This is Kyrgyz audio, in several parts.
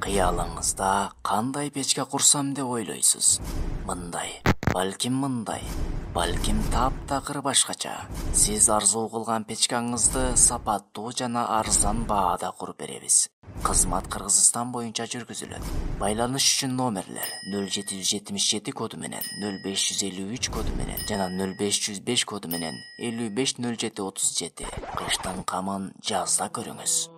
Кыялыңызда кандай печке курсам деп ойлойсуз? Мындай, балким мындай, балким таптакыр башкача. Сиз арзуу кылган печкаңызды сапаттуу жана арзан баада куруп беребиз. Кызмат Кыргызстан боюнча жүргүзүлөт. Байланыш үчүн номерлер 0777 коду менен, 0553 коду менен жана 0505 коду менен 550737. Кыштын камын жазда көрүңүз.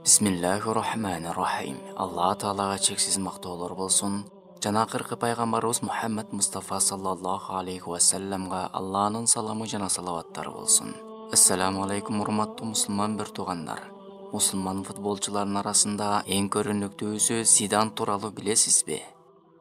Бисмиллахир-рахманир-рахим. Алла Таалага чексиз мактоолор болсун. Жана акыркы пайгамбарыбыз Мухаммад Мустафа саллаллаху алейхи ва салламга Алланын саламы жана салаваттары болсун. Ассаламу алейкум, урматтуу мусулман бир туугандар. Мусулман футболчулардын арасында эң көрүнүктүүсү Зидан тууралуу билесизби?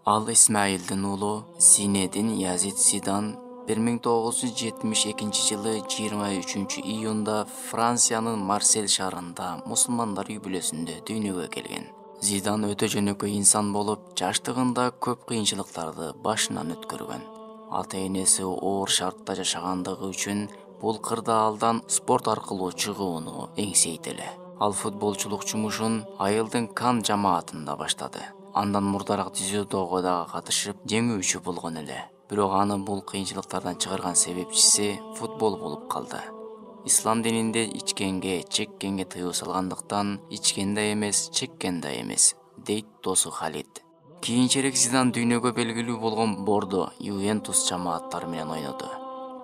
Ал Исмаилдин уулу Зинедин Язид Зидан 1972 жылы 23 июнда Франциянын Марсель шаарында мусулмандар үй бүлөсүндө дүйнөгө келген. Зидан өтө жөнөкөй инсан болуп, жаштыгында көп кыйынчылыктарды башынан өткөргөн. Ата-энеси оор шартта жашагандыгы үчүн бул кырдаалдан спорт аркылуу чыгууну эңсейт эле. Ал футболчулук жумушун айылдын Кан жамаатында баштады. Андан мурдараак дзюдого дагы катышып, жеңүүчү болгон эле. Бирок аны бул кыйынчылыктардан чыгарган себепчиси футбол болуп калды. Ислам дининде ичкенге, чеккенге тыюу салгандыктан ичкен да эмес, чеккен да эмес, дейт досу Халид. Кийинчерээк Зидан дүйнөгө белгилүү болгон Бордо, Ювентус жамааттары менен ойноду.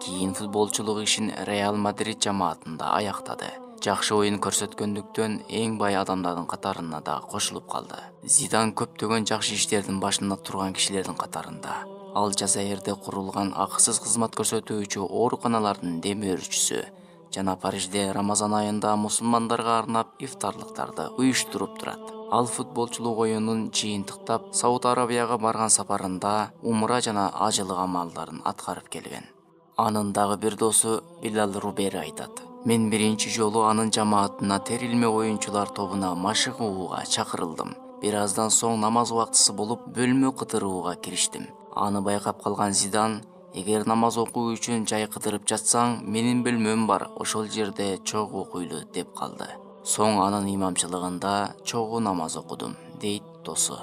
Кийин футболчулук ишин Реал Мадрид жамаатында аяктады. Жакшы оюн көрсөткөндүктөн эң бай адамдардын катарына да кошулуп калды. Зидан көптөгөн жакшы иштердин башында турган кишилердин катарында. Ал Жазаирде курулган акысыз кызмат көрсөтүүчү ооруканалардын демөөрчүсү жана Парижде Рамазан айында мусулмандарга арнап ифтарлыктарды уюштуруп турат. Ал футболчулук оюнун жыйынтыктап Сауд Арабияга барган сапарында умра жана ажылык амалдарын аткарып келген. Анын дагы бир досу Билал Рубери айтат: "Мен биринчи жолу анын жамаатына терилме оюнчулар тобуна машыгууга чакырылдым. Бир аздан соң намаз убактысы болуп, бөлмө кыдырууга кириштим. Аны байкап калган Зидан: эгер намаз окуу үчүн жай кыдырып жатсаң, менин бөлмөм бар, ошол жерде чогуу окуйлу" деп калды. Соң анын имамчылыгында чогуу намаз окудум, дейт досу.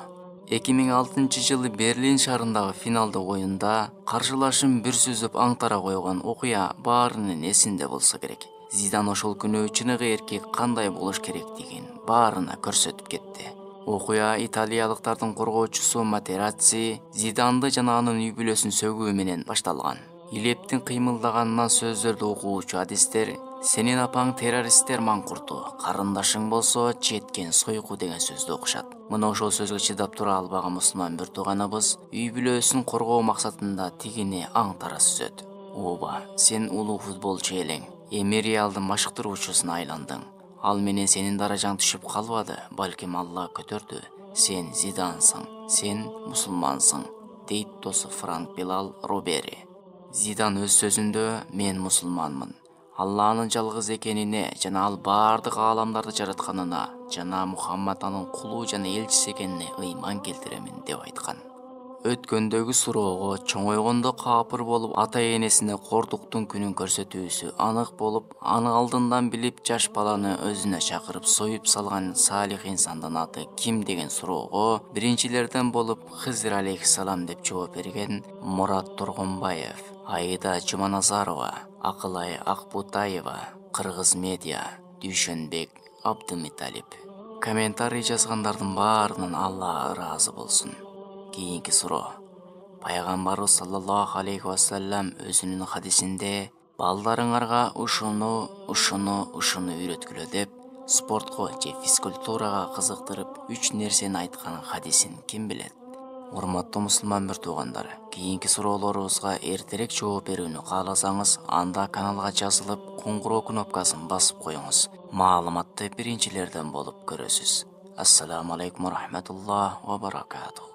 2006 жылы Берлин шаарындагы финалдык оюнда каршылашым бир сүзүп аңтара койгон окуя баарынын эсинде болсо керек. Зидан ошол күнү чыныгы эркек кандай болуш керектигин баарына көрсөтүп кетти. Окуя италиялыктардын коргоочусу Матерацци Зиданды жана анын үй бүлөсүн сөгүү менен башталган. Илептин кыймылдаганынан сөздөрдү окуучу адистер "Сенин апаң террористтер маңкурту, карындашың болсо четкен сойку" деген сөздү окушат. Мына ошол сөзгө чыдап тура албаган мусулман бир тууганыбыз үй бүлөсүн коргоо максатында тигини аңтара сүзөт. "Ооба, сен улуу футболчу элең. Эми Реалдын машыктыруучусуна айландың. Ал менен сенин даражаң түшүп калбады, балким Алла көтөрдү. Сен Зидансың, сен мусулмансың", дейт досу Франк Билал Рубери. Зидан өз сөзүндө "Мен мусулманмын. Алланын жалгыз экенине жана ал баардык ааламдарды жаратканына жана Мухаммад анын кулу жана элчиси экенине ыйман келтиремин" деп айткан. Өткөндөгү суроого чоңойгондо каапыр болуп ата-энесине кордуктун күнүн көрсөтүүсү анык болуп, аны алдындан билип жаш баланы өзүнө чакырып союп салган салих инсандын аты ким деген суроого биринчилерден болуп Хызыр алейхиссалам деп жооп берген Мурат Тургунбаев, Аида Жуманазарова, Акылай Акбутаева, Кыргыз медиа, Дүйшөнбек Абдымиталип. Комментарий жазгандардын баарынан Алла ыраазы болсун. Кийинки суроо. Пайгамбарыбыз саллаллаху алейхи ва саллям өзүнүн хадисинде "Балдарыңарга ушуну үйрөткүлө" деп спортко же физкультурага кызыктырып 3 нерсени айткан хадисин ким билет? Урматтуу мусулман бир туугандар, кийинки суроолорубузга эртерээк жооп берүүнү кааласаңыз, анда каналга жазылып, куңгуроо кнопкасын басып коюңуз. Маалыматты биринчилерден болуп көрөсүз. Ассаламу алейкум ва рахматуллах ва баракатух.